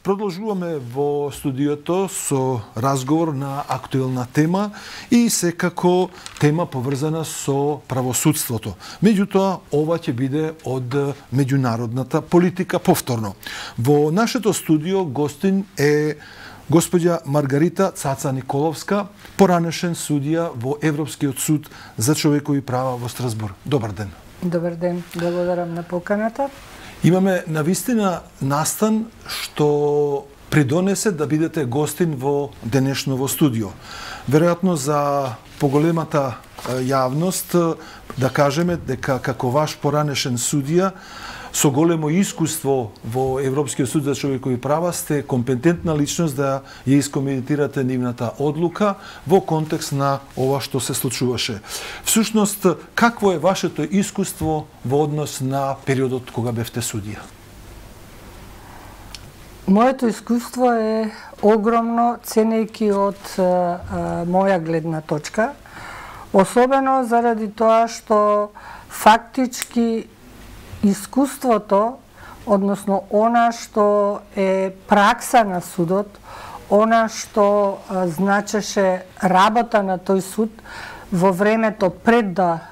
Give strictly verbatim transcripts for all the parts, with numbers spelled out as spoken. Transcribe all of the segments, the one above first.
Продолжуваме во студиото со разговор на актуелна тема и секако тема поврзана со правосудството. Меѓутоа, ова ќе биде од меѓународната политика повторно. Во нашето студио гостин е госпоѓа Маргарита Цаца Николовска, поранешен судија во Европскиот суд за човекови права во Страсбург. Добар ден. Добар ден, благодарам на поканата. Имаме навистина настан што придонесе да бидете гостин во денешново студио. Веројатно за поголемата јавност да кажеме дека како ваш поранешен судија со големо искуство во Европскиот суд за човекови права сте компетентна личност да ја искоментирате нивната одлука во контекст на ова што се случуваше. Всушност, какво е вашето искуство во однос на периодот кога бевте судија? Моето искуство е огромно, ценејќи од а, а, моја гледна точка, особено заради тоа што фактички искуството, односно она што е пракса на судот, она што а, значеше работа на тој суд во времето пред да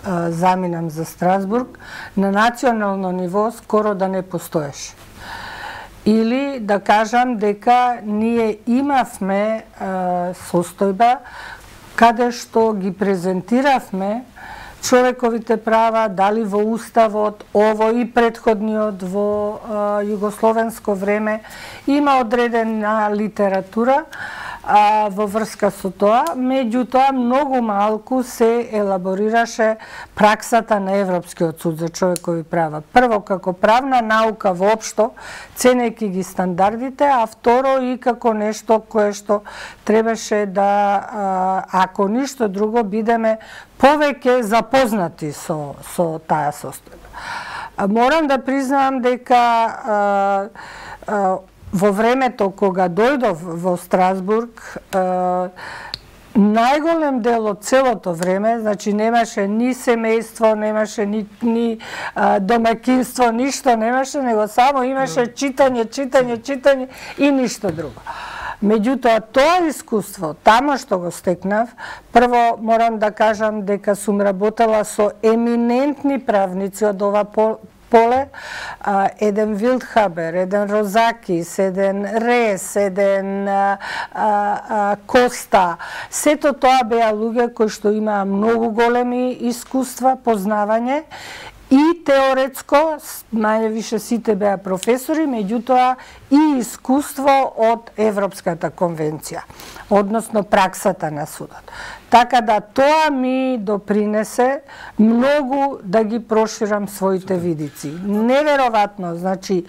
а, заминам за Страсбург, на национално ниво скоро да не постоеше. Или да кажам дека ние имавме а, состојба каде што ги презентиравме човековите права, дали во Уставот, ово и претходниот во а, југословенско време, има одредена литература а, во врска со тоа, меѓутоа многу малку се елаборираше праксата на Европскиот суд за човекови права. Прво, како правна наука воопшто, ценејќи ги стандардите, а второ и како нешто кое што требаше да, ако ништо друго, бидеме повеќе запознати со, со таа состојба. Морам да признам дека а, а, во времето кога дојдов во Страсбург, а, најголем дел од целото време, значи немаше ни семејство, немаше ни, ни а, домакинство, ништо немаше, него само имаше читање, читање, читање и ништо друго. Меѓутоа, тоа искуство, тамо што го стекнав, прво морам да кажам дека сум работела со еминентни правници од ова поле, а, еден Вилдхабер, еден Розакис, еден Рес, еден а, а, Коста. Сето тоа беа луѓе кои што имаа многу големи искуства, познавање, и теоретско, мање више сите беа професори, меѓутоа и искуство од Европската конвенција, односно праксата на судот. Така да тоа ми допринесе многу да ги проширам своите видици. Неверојатно, значи,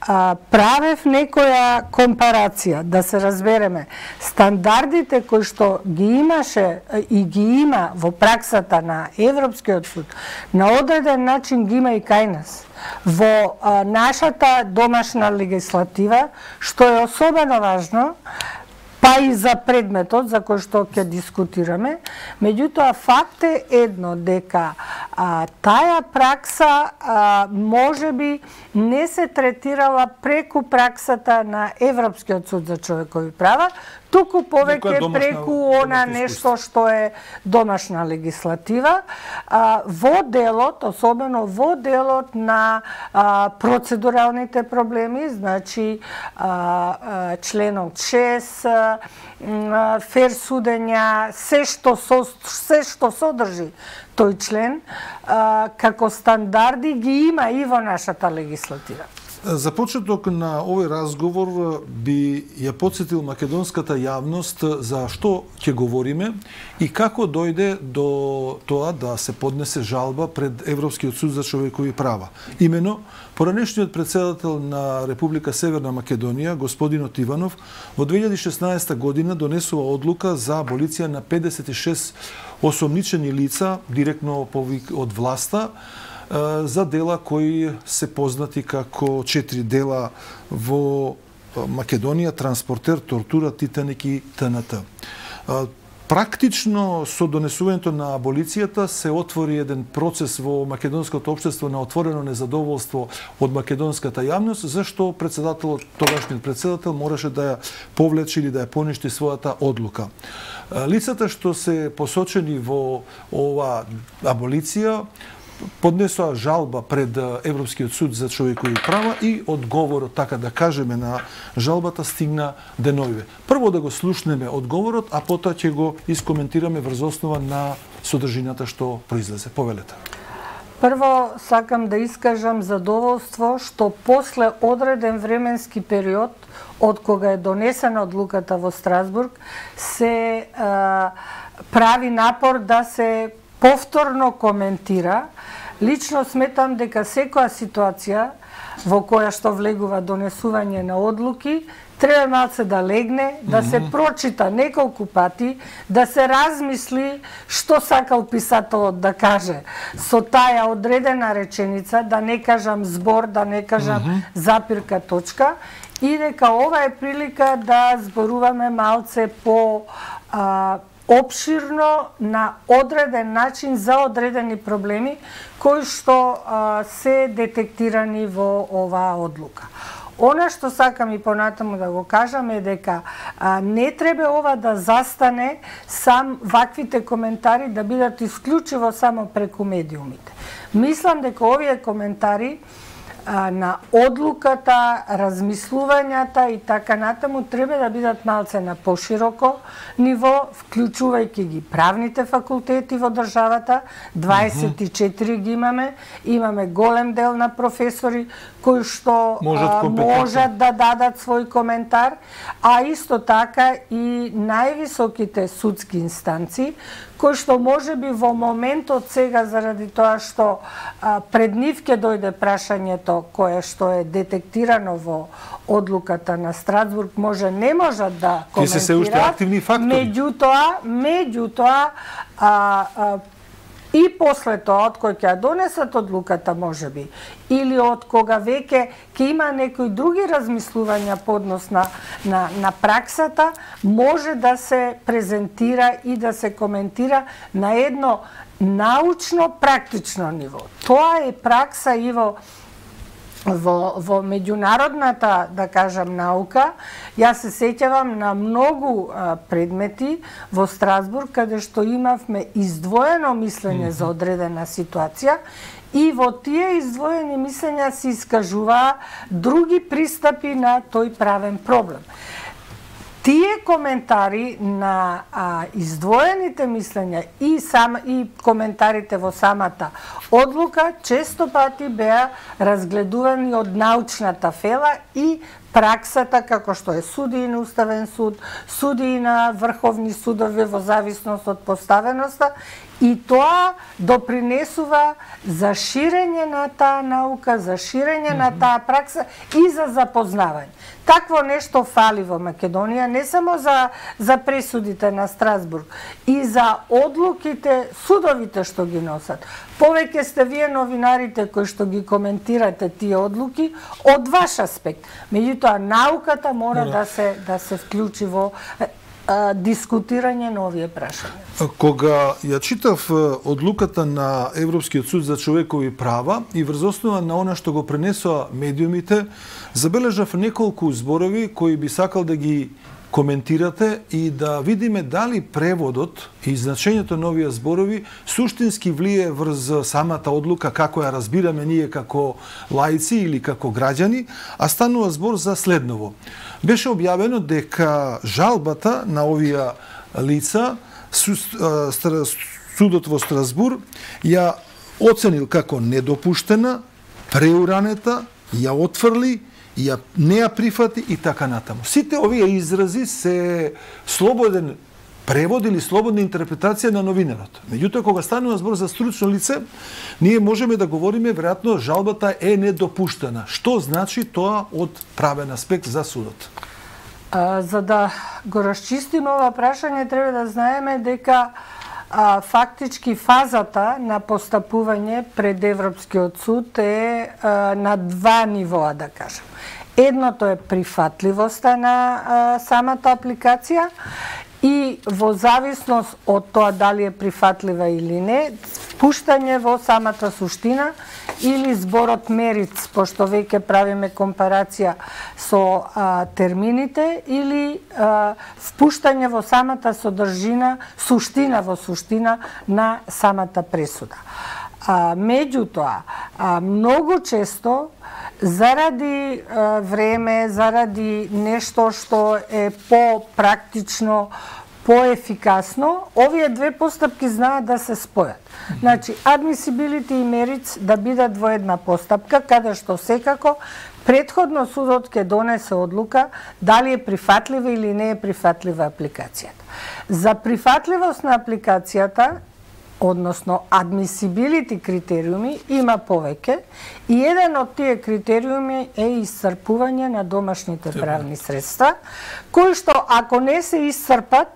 а, правев некоја компарација, да се разбереме, стандардите кои што ги имаше и ги има во праксата на Европскиот суд, на одреден начин ги има и кај нас. Во а, нашата домашна легислатива, што е особено важно, па и за предметот за кој што ќе дискутираме, меѓутоа факт е едно, дека а, таа пракса а, можеби не се третирала преку праксата на Европскиот суд за човекови права, туку повеќе преку она нешто што е домашна легислатива, а, во делот, особено во делот на а, процедуралните проблеми, значи а, а, членот шест, а, фер судења, се што, со, се што содржи тој член, а, како стандарди ги има и во нашата легислатива. За почеток на овој разговор би ја потсетил македонската јавност за што ќе говориме и како дојде до тоа да се поднесе жалба пред Европскиот суд за човекови права. Имено, поранешниот председател на Република Северна Македонија, господинот Иванов, во две илјади и шеснаесета година донесува одлука за аболиција на педесет и шест осомничени лица директно повик од власта, за дела кои се познати како четири дела во Македонија: Транспортер, Тортура, Титаник и ТНТ. Практично со донесувањето на аболицијата се отвори еден процес во македонското општество на отворено незадоволство од македонската јавност, зашто председателот, тогашниот председател, мораше да ја повлече или да ја поништи својата одлука. Лицата што се посочени во ова аболиција поднесоа жалба пред Европскиот суд за човекови права и одговорот, така да кажеме, на жалбата стигна деновиве. Прво да го слушнеме одговорот, а потоа ќе го искоментираме врз основа на содржината што произлезе. Повелете. Прво сакам да искажам задоволство што после одреден временски период од кога е донесена одлуката во Страсбург се а, прави напор да се повторно коментира. Лично сметам дека секоја ситуација во која што влегува донесување на одлуки треба малце да легне, да се прочита неколку пати, да се размисли што сакал писателот да каже со таа одредена реченица, да не кажам збор, да не кажам запирка точка, и дека ова е прилика да зборуваме малце по а, опширно на одреден начин за одредени проблеми кои што а, се детектирани во оваа одлука. Она што сакам и понатаму да го кажам е дека а, не треба ова да застане сам ваквите коментари да бидат исклучиво само преку медиумите. Мислам дека овие коментари а, на одлуката, размислувањата и така натаму треба да бидат малце на пошироко ниво, вклучувајќи ги правните факултети во државата, дваесет и четири ги имаме, имаме голем дел на професори кои што можат, а, можат да дадат свој коментар, а исто така и највисоките судски инстанции, кои што може би во моментот сега заради тоа што а, пред нив ќе дојде прашањето кое што е детектирано во одлуката на Страсбург, може не можат да коментираат. Тие се се уште активни фактори. Меѓутоа, меѓутоа а, а, и после тоа, од кој ќе ја донесат одлуката, може би, или од кога веќе ќе има некои други размислувања по однос на, на, на праксата, може да се презентира и да се коментира на едно научно, практично ниво. Тоа е пракса и во Во, во меѓународната, да кажам, наука. Јас се сеќавам на многу а, предмети во Страсбург, каде што имавме издвоено мислење за одредена ситуација и во тие издвоени мислења се искажуваа други пристапи на тој правен проблем. Тие коментари на а, издвоените мислења и сам и коментарите во самата одлука често пати беа разгледувани од научната фела и праксата, како што е судии на Уставен суд, судии на врховни судови во зависност од поставеноста, и тоа допринесува за ширење на таа наука, за ширење на таа пракса и за запознавање. Такво нешто фали во Македонија, не само за, за пресудите на Страсбург, и за одлуките, судовите што ги носат. Повеќе сте вие новинарите кои што ги коментирате тие одлуки од ваш аспект. Меѓутоа, науката мора да се, да се вклучи во а, дискутирање на овие прашања. Кога ја читав одлуката на Европскиот суд за човекови права и врз основа на она што го пренесоа медиумите, забележав неколку зборови кои би сакал да ги коментирате и да видиме дали преводот и значењето на овие зборови суштински влие врз самата одлука, како ја разбираме ние како лаици или како граѓани, а станува збор за следново. Беше објавено дека жалбата на овие лица судот во Страсбург ја оценил како недопуштена, преуранета, ја отфрли, ја не ја прифати и така натаму. Сите овие изрази се слободен превод или слободна интерпретација на новинарот. Меѓутоа, кога станува збор за стручно лице, ние можеме да говориме, веројатно, жалбата е недопуштена. Што значи тоа од правен аспект за судот? А, за да го расчистиме ова прашање, треба да знаеме дека а, фактички фазата на постапување пред Европскиот суд е а, на два нивоа, да кажем. Едното е прифатливоста на а, самата апликација и во зависност од тоа дали е прифатлива или не, впуштање во самата суштина или зборот мериц, пошто веќе правиме компарација со а, термините, или а, впуштање во самата содржина, суштина во суштина на самата пресуда. А, меѓутоа, а, многу често, заради а, време, заради нешто што е по-практично, поефикасно, овие две постапки знаат да се спојат. Значи, admissibility и merits да бидат во една постапка, каде што секако претходно судот ќе донесе одлука дали е прифатлива или не е прифатлива апликацијата. За прифатливост на апликацијата, односно admissibility критериуми, има повеќе и еден од тие критериуми е исцрпување на домашните правни средства, кои што ако не се исцрпат,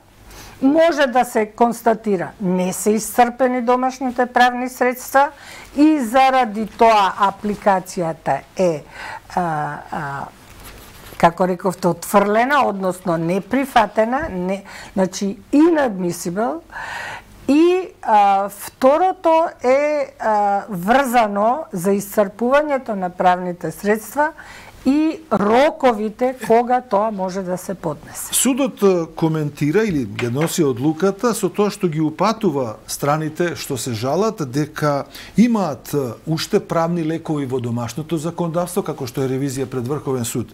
може да се констатира не се исцрпени домашните правни средства и заради тоа апликацијата е а, а, како рековте отфрлена, односно неприфатена, не, значи inadmissible. И а, второто е а, врзано за исцрпувањето на правните средства и роковите кога тоа може да се поднесе. Судот коментира или ги носи одлуката со тоа што ги упатува страните што се жалат дека имаат уште правни лекови во домашното законодавство, како што е ревизија пред Врховен суд.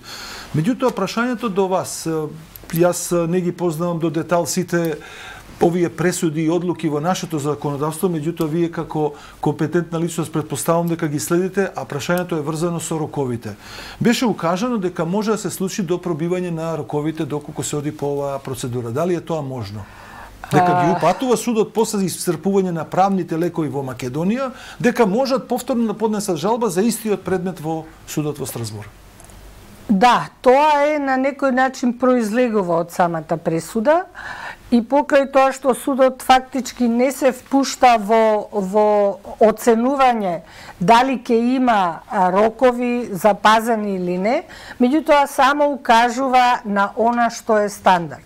Меѓутоа, прашањето до вас, јас не ги познавам до детал сите овие пресуди и одлуки во нашето законодавство, меѓутоа вие како компетентна личност претпоставам дека ги следите, а прашањето е врзано со роковите. Беше укажано дека може да се случи до пробивање на роковите доколку се оди по оваа процедура. Дали е тоа можно? Дека ги упатува судот после исцрпување на правните лекови во Македонија, дека можат повторно да поднесат жалба за истиот предмет во судот во Страсбург. Да, тоа е на некој начин произлегува од самата пресуда. И покрај тоа што судот фактички не се впушта во, во оценување дали ќе има рокови запазени или не, меѓутоа само укажува на она што е стандард.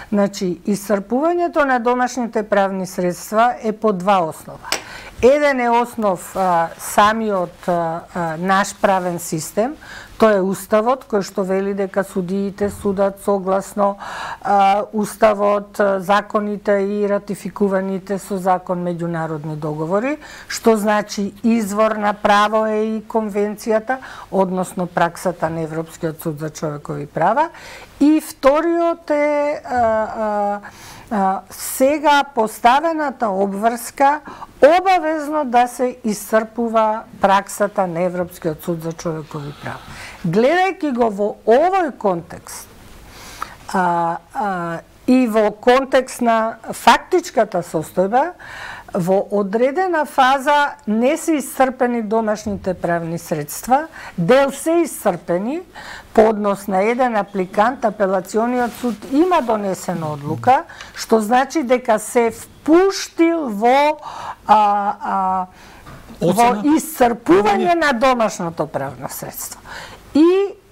Значи, исцрпувањето на домашните правни средства е по два основа. Еден е основ а, самиот а, а, наш правен систем, тоа е Уставот, кој што вели дека судиите судат согласно а, Уставот, законите и ратификуваните со закон меѓународни договори, што значи извор на право е и конвенцијата, односно праксата на Европскиот суд за човекови права. И вториот е а, а, а, сега поставената обврска обавезно да се исцрпува праксата на Европскиот суд за човекови права. Гледајќи го во овој контекст а, а, и во контекст на фактичката состојба, во одредена фаза не се исцрпени домашните правни средства, дел се исцрпени, по однос на еден апликант, апелациониот суд има донесена одлука, што значи дека се впуштил во а, а, во исцрпување на домашното правно средство. И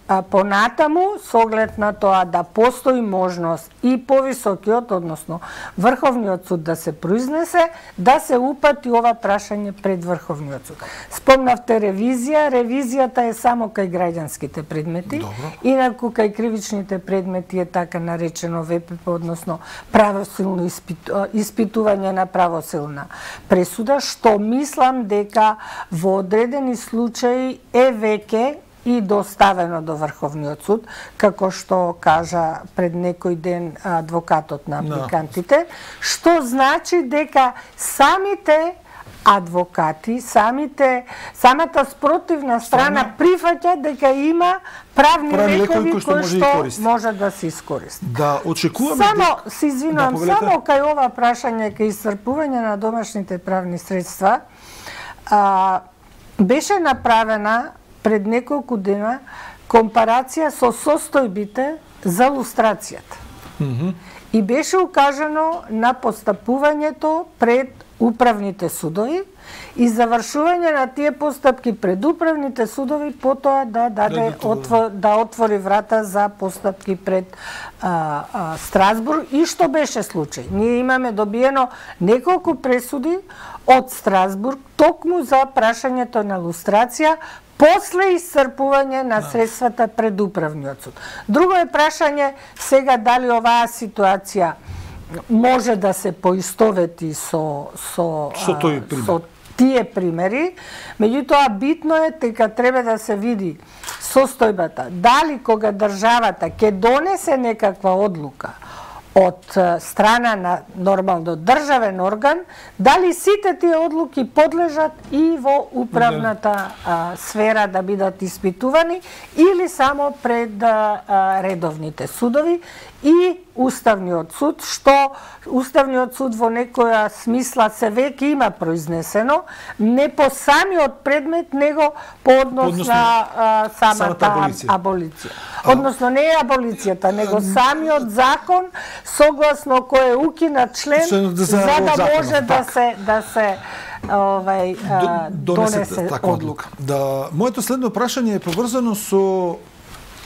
а, понатаму, со оглед на тоа да постои можност и повисокиот, односно Врховниот суд да се произнесе, да се упати ова прашање пред Врховниот суд. Спомнавте ревизија, ревизијата е само кај граѓанските предмети, Добро. Инаку кај кривичните предмети е така наречено В П П, односно правосилно испиту, испитување на правосилна пресуда, што мислам дека во одредени случаи е веќе и доставено до Врховниот суд, како што кажа пред некој ден адвокатот на апликантите, што значи дека самите адвокати, самите, самата спротивна страна прифаќа дека има правни лекови кои што, што може да се искористи. Да, очекуваме... Само, дека... се извинувам, да, само кај ова прашање, кај исцрпување на домашните правни средства, а, беше направена пред неколку дена компарација со состојбите за лустрацијата. Mm-hmm. И беше укажано на постапувањето пред управните судови и завршување на тие постапки пред управните судови, потоа да даде да, отвор, да отвори врата за постапки пред а, а, Страсбург, и што беше случај. Ние имаме добиено неколку пресуди од Страсбург токму за прашањето на лустрација после исцрпување на средствата пред управниот суд. Друго е прашање сега дали оваа ситуација може да се поистовети со со со, тој со тие примери, меѓутоа битно е дека треба да се види состојбата, дали кога државата ќе донесе некаква одлука од страна на нормално државен орган, дали сите тие одлуки подлежат и во управната а, сфера да бидат испитувани или само пред а, редовните судови и Уставниот суд, што Уставниот суд во некоја смисла се веќе има произнесено, не по самиот предмет, него по однос Односно, на а, самата аболиција. аболиција. Односно не е аболицијата, него самиот закон согласно кој е укинат член за, за да законов, може да се да се овај а, донесе таква одлука. Да, моето следно прашање е поврзано со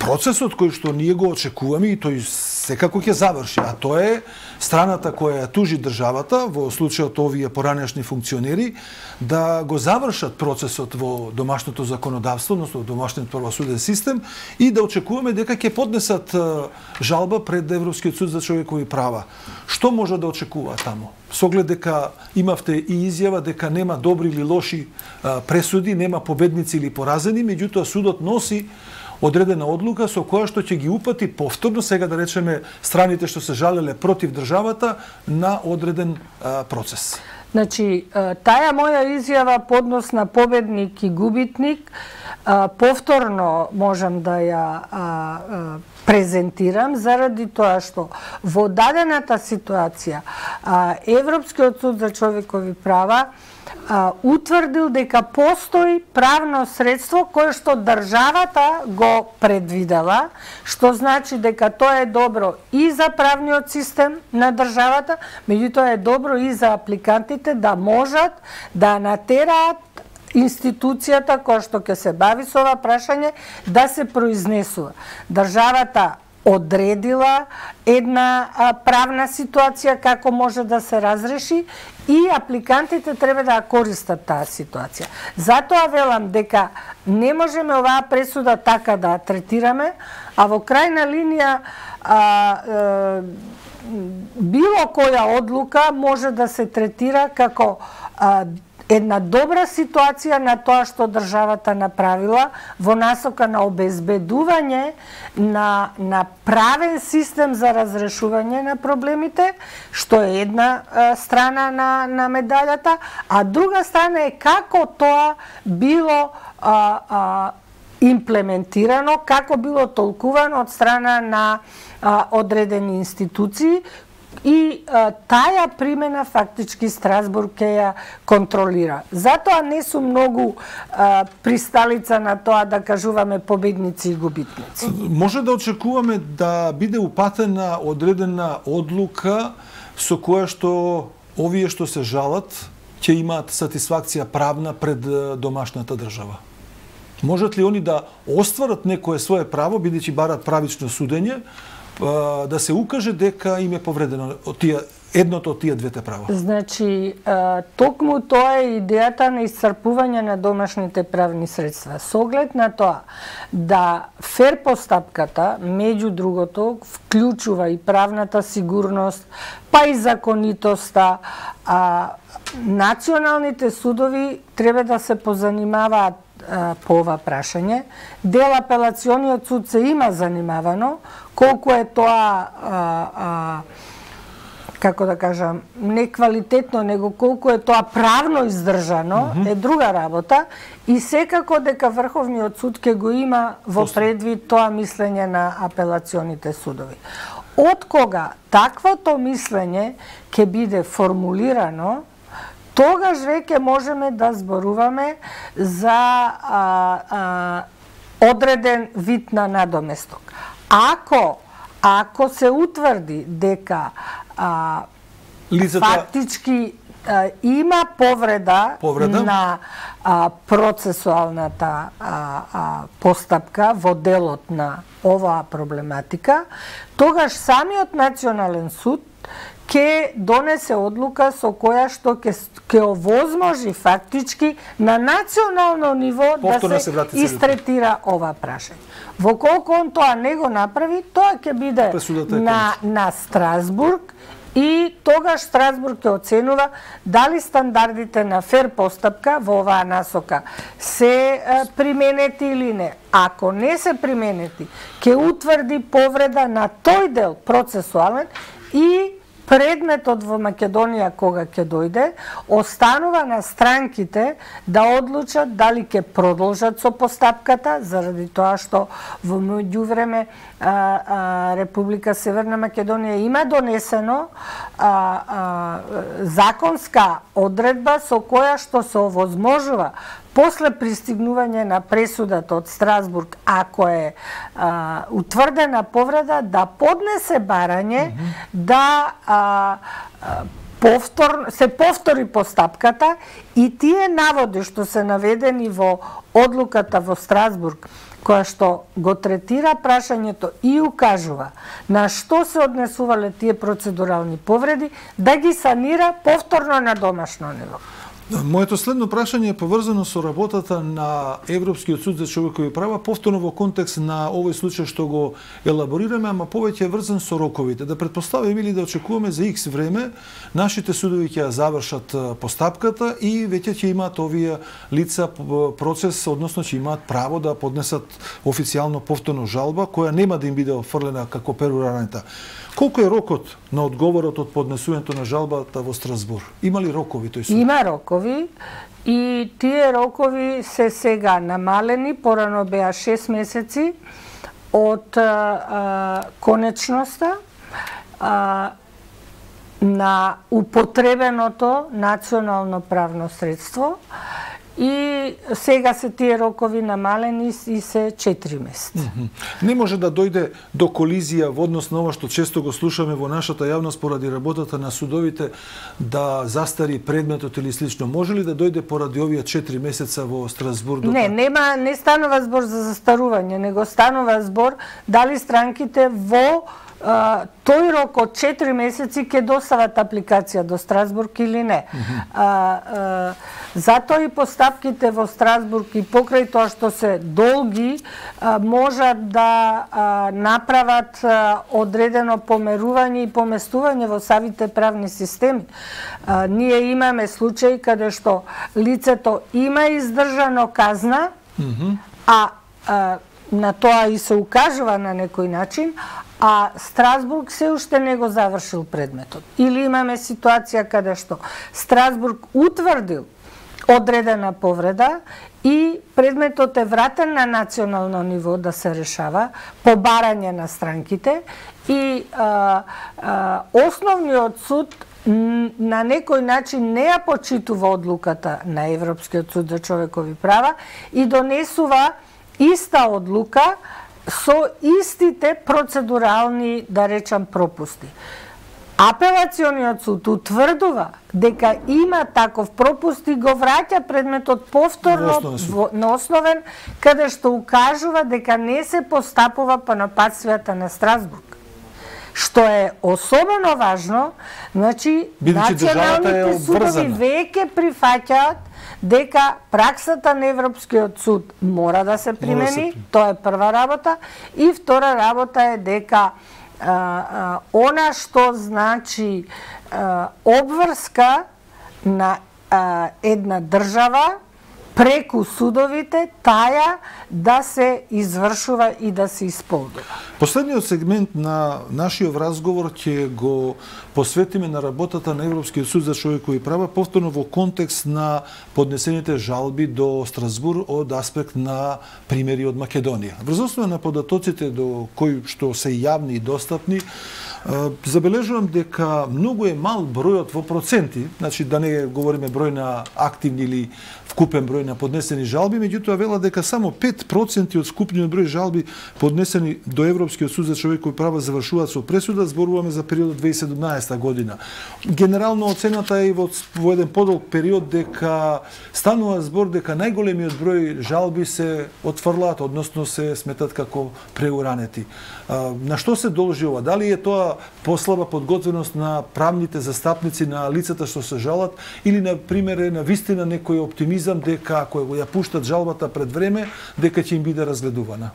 процесот кој што ние го очекуваме и тој секако ќе заврши, а тоа е страната која ја тужи државата, во случајот овие поранешни функционери, да го завршат процесот во домашното законодавство, односно во домашниот правосуден систем, и да очекуваме дека ќе поднесат жалба пред Европскиот суд за човекови права. Што може да очекува таму? Со оглед дека имавте и изјава дека нема добри или лоши пресуди, нема победници или поразени, меѓутоа судот носи одредена одлука со која што ќе ги упати повторно, сега да речеме, страните што се жалеле против државата на одреден а, процес. Значи, таа моја изјава по однос на победник и губитник, а, повторно можам да ја а, а, презентирам, заради тоа што во дадената ситуација а, Европскиот суд за човекови права а, утврдил дека постои правно средство кое што државата го предвидела, што значи дека тоа е добро и за правниот систем на државата, меѓутоа е добро и за апликантите да можат да натераат институцијата која што ќе се бави со ова прашање да се произнесува. Државата одредила една а, правна ситуација како може да се разреши и апликантите треба да користат таа ситуација. Затоа велам дека не можеме оваа пресуда така да третираме, а во крајна линија а, а, било која одлука може да се третира како а, една добра ситуација на тоа што државата направила во насока на обезбедување на, на правен систем за разрешување на проблемите, што е една а, страна на, на медалјата, а друга страна е како тоа било а, а, имплементирано, како било толкувано од страна на а, одредени институции, и а, таја примена фактички Страсбург ќе ја контролира. Затоа не сум многу а, присталица на тоа да кажуваме победници и губитници. Може да очекуваме да биде упатена одредена одлука со која што овие што се жалат ќе имаат сатисфакција правна пред домашната држава. Можат ли они да остварат некое свое право, бидејќи барат правично судење, да се укаже дека им е повредено од тие, едното од тие двете права? Значи, токму тоа е идејата на исцрпување на домашните правни средства. Со оглед на тоа да фер постапката, меѓу другото, вклучува и правната сигурност, па и законитоста, а националните судови треба да се позанимаваат по ова прашање. Дел апелациониот суд се има занимавано, колку е тоа а, а, како да кажам, не квалитетно, него колку е тоа правно издржано, mm -hmm. е друга работа, и секако дека Врховниот суд ќе го има во предвид тоа мислење на апелационите судови. Од кога таквото мислење ќе биде формулирано, тогаш веќе можеме да зборуваме за а, а, одреден вид на надоместок. Ако ако се утврди дека а, лицата... фактички има повреда, повреда? на а, процесуалната а, а, постапка во делот на оваа проблематика, тогаш самиот национален суд ќе донесе одлука со која што ќе ќе овозможи фактички на национално ниво повторно да се, се истретира ова прашање. Во колку он тоа не го направи, тоа ќе биде на, на Страсбург и тогаш Страсбург ќе оценува дали стандардите на фер постапка во оваа насока се е, применети или не. Ако не се применети, ќе утврди повреда на тој дел процесуален и предметот во Македонија кога ќе дојде, останува на странките да одлучат дали ќе продолжат со постапката, заради тоа што во меѓувреме Република Северна Македонија има донесено а, а, законска одредба со која што се овозможува после пристигнување на пресудата од Страсбург, ако е а, утврдена повреда, да поднесе барање, mm -hmm. да а, повтор, се повтори постапката и тие наводи што се наведени во одлуката во Страсбург, која што го третира прашањето и укажува на што се однесувале тие процедурални повреди, да ги санира повторно на домашно ниво. Моето следно прашање е поврзано со работата на Европскиот суд за човекови права, повторно во контекст на овој случај што го елаборираме, ама повеќе е врзан со роковите. Да предпоставиме или да очекуваме за икс време нашите судови ќе ја завршат постапката и веќе ќе имаат овие лица процес, односно ќе имаат право да поднесат официјално повторно жалба која нема да им биде офрлена како перураната. Колку е рокот на одговорот од поднесувањето на жалбата во Страсбург? Има ли рокови тој суд? Има рокови и тие рокови се сега намалени, порано беа шест месеци од а, а, конечноста а, на употребеното национално правно средство и сега се тие рокови намалени и се четири месеци. Mm -hmm. Не може да дојде до колизија во однос на ова што често го слушаме во нашата јавност поради работата на судовите да застари предметот или слично. Може ли да дојде поради овие четири месеца во Страсбург? Не, нема, не станува збор за застарување, него станува збор дали странките во Uh, тој рок од четири месеци ќе достават апликација до Страсбург или не. Mm -hmm. uh, uh, затоа и постапките во Страсбург и покрај тоа што се долги uh, можат да uh, направат uh, одредено померување и поместување во самите правни системи. Uh, ние имаме случаи каде што лицето има издржано казна, mm -hmm. а uh, на тоа и се укажува на некој начин, а Страсбург се уште не го завршил предметот. Или имаме ситуација каде што Страсбург утврдил одредена повреда и предметот е вратен на национално ниво да се решава по барање на странките и а, а, основниот суд на некој начин не ја почитува одлуката на Европскиот суд за човекови права и донесува иста одлука со истите процедурални, да речам, пропусти. Апелациониот суд утврдува дека има таков пропуст и го враќа предметот повторно во, на основен, каде што укажува дека не се постапува по напатствијата на Страсбург. Што е особено важно, значи, националните судови веќе прифаќаат дека праксата на Европскиот суд мора да се примени, тоа е прва работа, и втора работа е дека а, а, она што значи а, обврска на а, една држава преку судовите, таја да се извршува и да се исполнува. Последниот сегмент на нашиот разговор ќе го посветиме на работата на Европскиот суд за човекови права, повторно во контекст на поднесените жалби до Страсбург од аспект на примери од Македонија. Врз основа на податоците до кои што се јавни и достапни, Забележувам дека многу е мал бројот во проценти, значи да не говориме број на активни или вкупен број на поднесени жалби, меѓутоа вела дека само пет проценти од скупниот број жалби поднесени до Европскиот суд за човекови права завршуваат со пресуда, зборуваме за периодот две илјади и седумнаесета година. Генерално оцената е во, во еден подолг период дека станува збор дека најголемиот број жалби се отфрлаат, односно се сметат како преуранети. На што се должи ова? Дали е тоа послаба подготвеност на правните застапници на лицата што се жалат или на пример е на вистина некој оптимизам дека ако ја пуштат жалбата пред време дека ќе им биде разгледувана?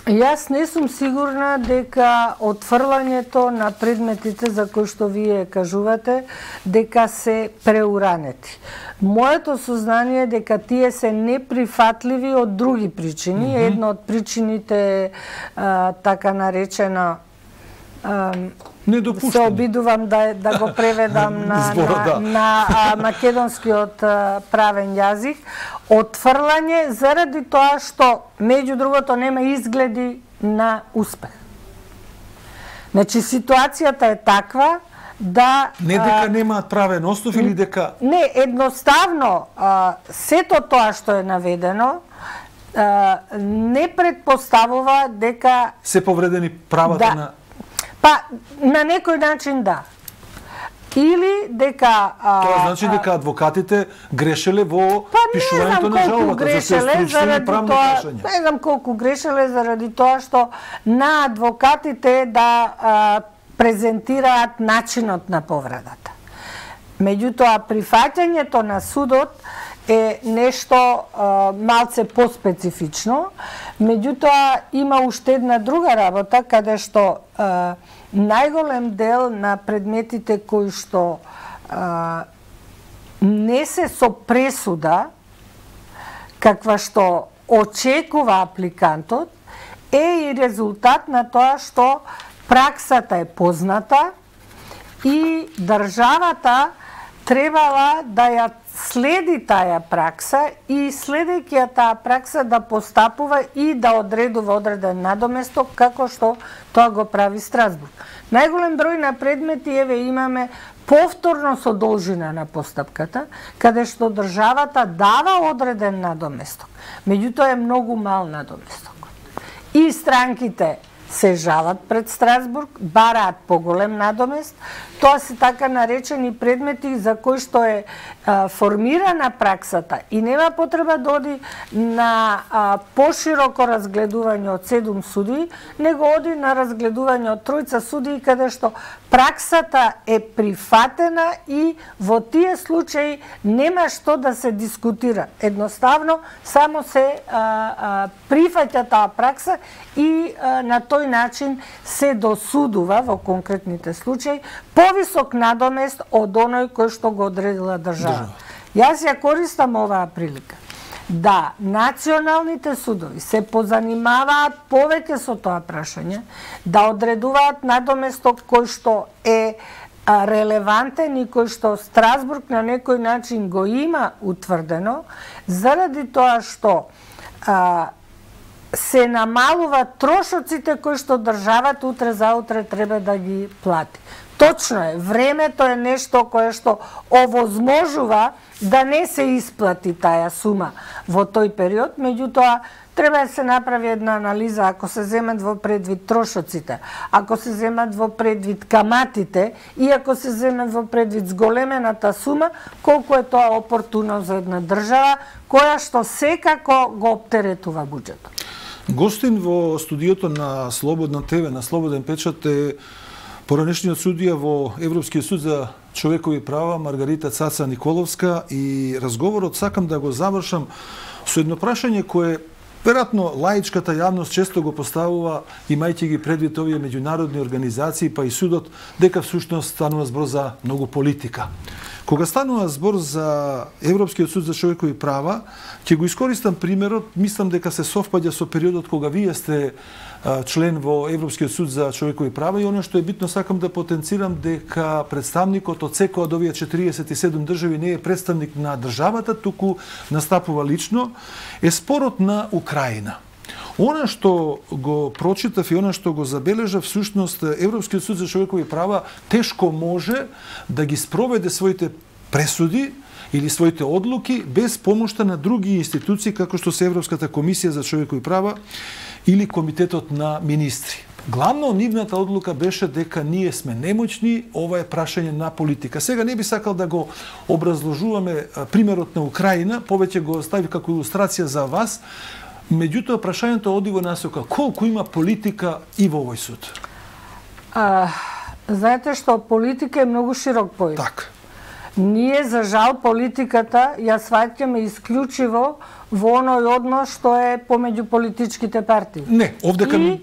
Јас не сум сигурна дека отфрлањето на предметите за кои што вие кажувате дека се преуранети. Моето сознание е дека тие се неприфатливи од други причини. Mm -hmm. Една од причините е а, така наречена а, се обидувам да, да го преведам на, Збора, на, да. на а, македонскиот а, правен јазик. Отфрлање заради тоа што, меѓу другото, нема изгледи на успех. Значи, ситуацијата е таква да... Не дека немаат правен основ или дека... Не, едноставно, а, сето тоа што е наведено, а, не предпоставува дека... Се повредени правата да, на... Па, на некој начин да. Или дека... А, Тоа значи дека адвокатите грешеле во па, пишувањето на жалбата, за се стручни и правни прашања. Не знам колку грешеле заради тоа што на адвокатите да а, презентираат начинот на повредата. Меѓутоа, прифаќањето на судот е нешто а, малце поспецифично. Меѓутоа, има уште една друга работа, каде што а, најголем дел на предметите кои што а, не се со пресуда, каква што очекува апликантот, е и резултат на тоа што праксата е позната и државата требала да ја следи таа пракса и следејќи ја таа пракса да постапува и да одредува одреден надоместок како што тоа го прави Страсбург. Најголем број на предмети еве имаме повторно со должина на постапката, каде што државата дава одреден надоместок. Меѓутоа е многу мал надоместок. И странките се жалат пред Страсбург, бараат поголем надомест. Тоа се така наречени предмети за кои што е а, формирана праксата и нема потреба да оди на а, пошироко разгледување од седум суди, него оди на разгледување од тројца суди, каде што праксата е прифатена и во тие случаи нема што да се дискутира. Едноставно, само се а, а, прифаќа таа пракса и а, на тој начин се досудува во конкретните случаи повисок надомест од оној кој што го одредила држава. Јас ја користам оваа прилика да националните судови се позанимаваат повеќе со тоа прашање, да одредуваат надоместок кој што е релевантен и кој што Страсбург на некој начин го има утврдено, заради тоа што а, се намалува трошоците кои што државата утре заутре треба да ги плати. Точно е, времето е нешто кое што овозможува да не се исплати таа сума во тој период, меѓутоа треба да се направи една анализа ако се земат во предвид трошоците, ако се земат во предвид каматите и ако се земат во предвид зголемената сума, колку е тоа опортуно за една држава која што секако го оптеретува буџетот. Гостин во студиото на Слободна ТВ, на Слободен печат е поранешниот судија во Европскиот суд за човекови права Маргарита Цаца Николовска и разговорот сакам да го завршам со едно прашање кое веројатно лаичката јавност често го поставува, имајќи ги предвид овие меѓународни организации, па и судот, дека всушност станува збор за многу политика. Кога станува збор за Европскиот суд за човекови права, ќе го искористам примерот, мислам дека се совпаѓа со периодот кога вие сте член во Европскиот суд за човекови права и оно што е битно сакам да потенцирам дека представникот од секоја од овие четириесет и седум држави не е представник на државата, туку настапува лично, е спорот на Украина. Она што го прочитав и она што го забележав, всушност Европскиот суд за човекови права тешко може да ги спроведе своите пресуди или своите одлуки без помошта на други институции како што се Европската комисија за човекови права или Комитетот на министри. Главно нивната одлука беше дека ние сме немоćни, ова е прашање на политика. Сега не би сакал да го образложуваме примерот на Украина, повеќе го остави како илустрација за вас, меѓутоа прашањето оди во насока колку има политика и во овој суд. А, знаете што, политика е многу широк поим. Так. Ние, за жал, политиката ја сваќаме исклучиво во оној однос што е помеѓу политичките партии. Не, овдека и,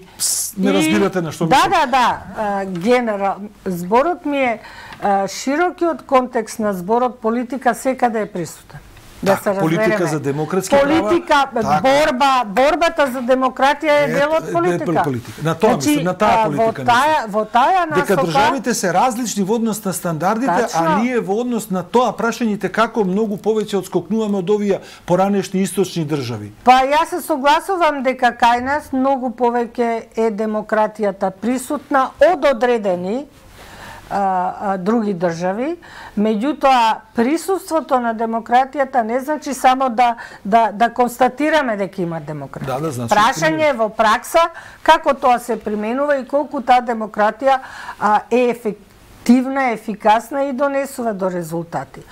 не разбирате на што да, мислам. Да, да, да, генерал. Зборот ми е широкиот контекст на зборот политика секаде е присутен. Да так, политика за демократски политика, права. Борба, борбата за демократија е дел од политика. Е, политика. На тоа значи, на таа политика. Во таа, во таа насока... Дека државите се различни во однос на стандардите, тачно, а ние во однос на тоа прашањите како многу повеќе одскокнуваме од овие поранешни источни држави. Па јас се согласувам дека кај нас многу повеќе е демократијата присутна од одредени А, а, други држави, меѓутоа присуството на демократијата не значи само да да да констатираме дека има демократија. Да, да, значи, прашање е во пракса како тоа се применува и колку таа демократија а, е ефективна, ефикасна и донесува до резултати.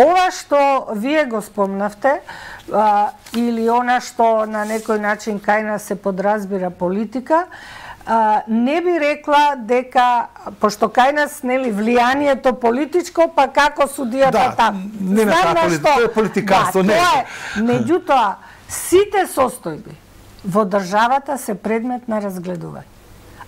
Ова што вие го спомнавте, а, или она што на некој начин кај нас се подразбира политика, А, не би рекла дека, пошто кај нас нели влијанието политичко, па како судијата да, там. Не на таа политика, тоа е политикарство, да, не. Тоа е. Меѓутоа, сите состојби во државата се предмет на разгледување.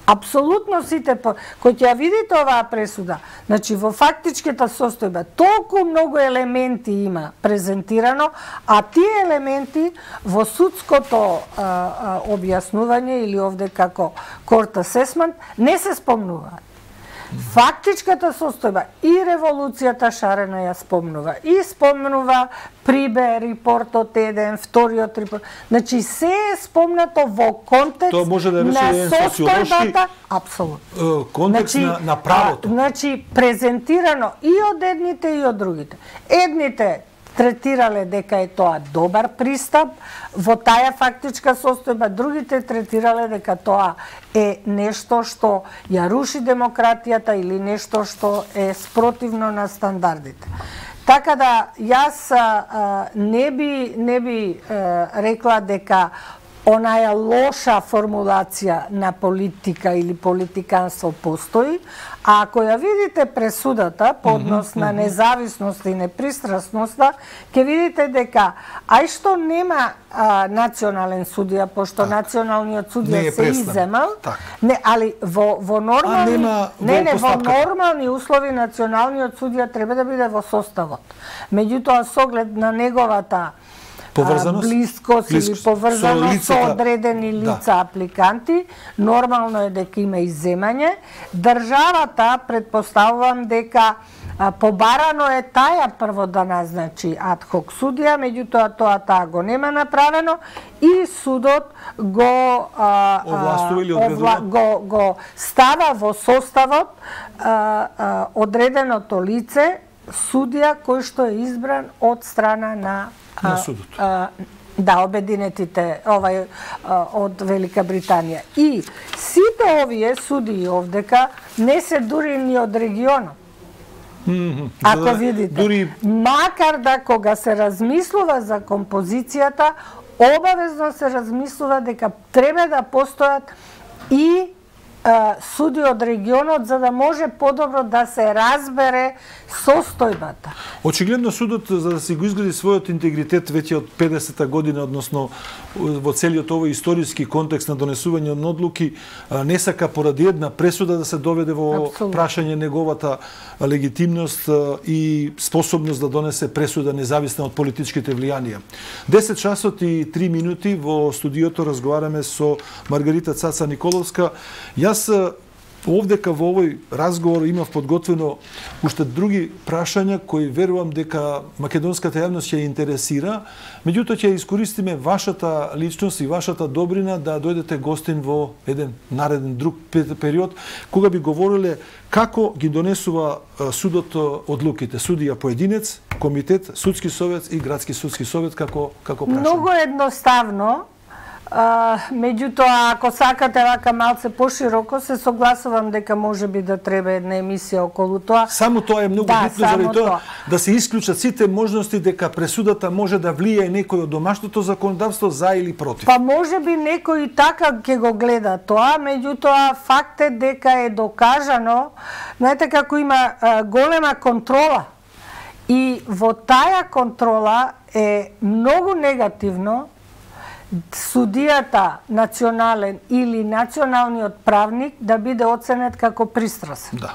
Апсолутно сите, кои ќе ја видите оваа пресуда, значи во фактичката состојба толку многу елементи има презентирано, а тие елементи во судското а, а, објаснување или овде како court assessment не се спомнуваат. Фактичката состојба и револуцијата шарена ја спомнува. И спомнува Прибе, репортот еден, вториот репорт. Значи се е спомнато во контекст да на состојбата, апсолутно. Контекст значи, на, на правото. А, значи презентирано и од едните и од другите. Едните третирале дека е тоа добар пристап во таа фактичка состојба, другите третирале дека тоа е нешто што ја руши демократијата или нешто што е спротивно на стандардите. Така да јас а, не би не би а, рекла дека онаја лоша формулација на политика или политиканство постои, а ако ја видите пресудата по однос на независност и непристрасноста, ќе видите дека ај што нема а, национален судија, пошто так. Националниот судија се изземал, так. Не, али во во нормални нема, не не во нормални услови националниот судија треба да биде во составот. Меѓутоа со оглед на неговата поврзаност, близкост или поврзаност со, со одредени лица да. Апликанти, нормално е дека има изземање. Државата, предпоставувам дека а, побарано е таја прво да назначи адхок судија, меѓутоа тоа таа го нема направено и судот го а, овластува или овла, го, го става во составот а, а, одреденото лице судија кој што е избран од страна на на судот. А, да, обединетите овај а, од Велика Британија. И сите овие судии овдека не се дури ни од регионот. Mm -hmm. Ако да, видите, дури... макар да кога се размислува за композицијата, обавезно се размислува дека треба да постојат и суди од регионот за да може подобро да се разбере состојбата. Очигледно судот за да се го изгради својот интегритет веќе од педесета година, односно во целиот овој историски контекст на донесување на одлуки, не сака поради една пресуда да се доведе во Абсолютно. Прашање неговата легитимност и способност да донесе пресуда независна од политичките влијанија. десет часот и три минути во студиото разговараме со Маргарита Цаца Николовска. Јас Овдека во овој разговор имав подготвено уште други прашања кои верувам дека македонската јавност ќе интересира, меѓутоа ќе искористиме вашата личност и вашата добрина да дојдете гостин во еден нареден друг период, кога би говориле како ги донесува судот одлуките, судија поединец, комитет, судски совет и градски судски совет, како како прашање. Многу едноставно. А, меѓутоа, ако сакате вака малце пошироко, се согласувам дека може би да треба една емисија околу тоа. Само тоа е многу да, битно заради тоа да се исклучат сите можности дека пресудата може да влијае некој од домашното законодавство за или против. Па може би некој и така ќе го гледа тоа, меѓутоа факт е дека е докажано, знаете како има а, голема контрола и во таа контрола е многу негативно судијата национален или националниот правник да биде оценет како пристрасен. Да.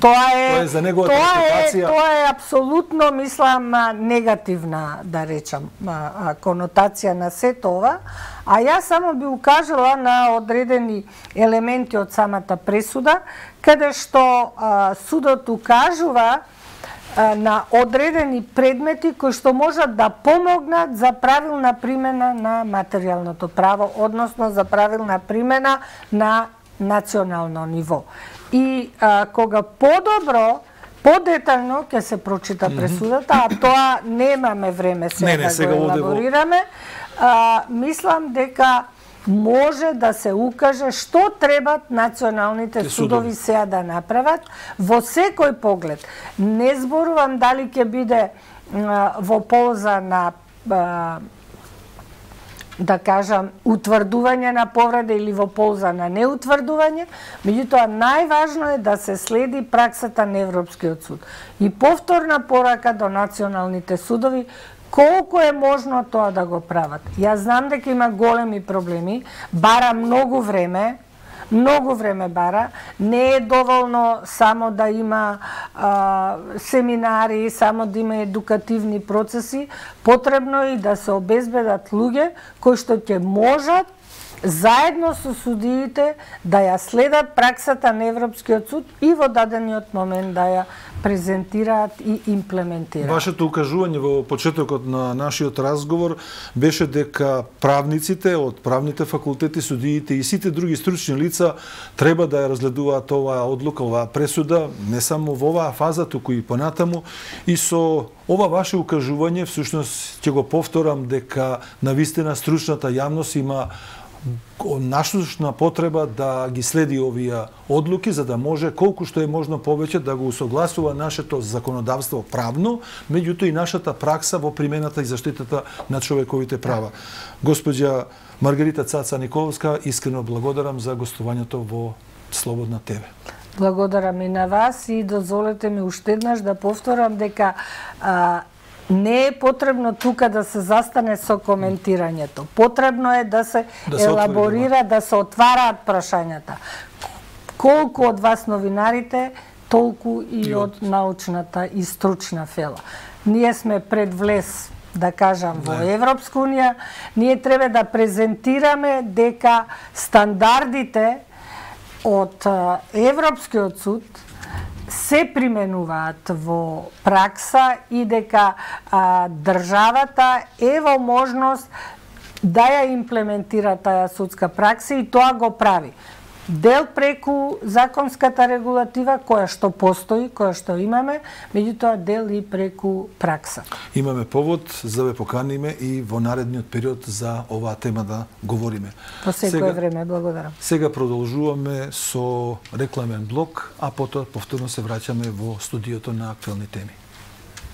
Тоа е, тоа е за неговата тоа репутација. Е, тоа е апсолутно, мислам, негативна, да речам, конотација на сето ова. А јас само би укажала на одредени елементи од самата пресуда, каде што а, судот укажува на одредени предмети кои што можат да помогнат за правилна примена на материјалното право, односно за правилна примена на национално ниво. И а, кога подобро, подетално ќе се прочита пресудата, а тоа немаме време сега, не, не, да сега го елаборираме, а, мислам дека може да се укаже што требат националните судови сега да направат во секој поглед. Не зборувам дали ќе биде а, во полза на а, да кажам утврдување на повреда или во полза на неутврдување, меѓутоа најважно е да се следи праксата на Европскиот суд. И повторна порака до националните судови колку е можно тоа да го прават. Јас знам дека има големи проблеми, бара многу време, многу време бара, не е доволно само да има а, семинари, само да има едукативни процеси, потребно е и да се обезбедат луѓе кои што ќе можат заедно со судиите да ја следат праксата на Европскиот суд и во дадениот момент да ја презентираат и имплементираат. Вашето укажување во почетокот на нашиот разговор беше дека правниците од правните факултети, судиите и сите други стручни лица треба да ја разгледуваат оваа одлука, оваа пресуда, не само во оваа фаза, туку и понатаму. И со ова ваше укажување, всушност ќе го повторам дека навистина стручната јавност има нашна потреба да ги следи овие одлуки, за да може колку што е можно повеќе да го усогласува нашето законодавство правно, меѓутоа и нашата пракса во примената и заштитата на човековите права. Господја Маргарита Цаца Николовска, искрено благодарам за гостувањето во Слободна ТВ. Благодарам и на вас и дозволете ми уште еднаш да повторам дека а, не е потребно тука да се застане со коментирањето. Потребно е да се, да се елаборира, отвори, да се отвараат прашањата. Колку од вас новинарите, толку и, и од научната и стручна фела. Ние сме пред влез, да кажам, во Европска унија. Ние треба да презентираме дека стандардите од Европскиот суд се применуваат во пракса и дека а, државата е во можност да ја имплементира таа судска пракса и тоа го прави. Дел преку законската регулатива која што постои, која што имаме, меѓутоа дел и преку пракса. Имаме повод за да ве поканиме и во наредниот период за оваа тема да говориме. По секое време, благодарам. Сега продолжуваме со рекламен блок, а потоа повторно се враќаме во студиото на Актуелни теми.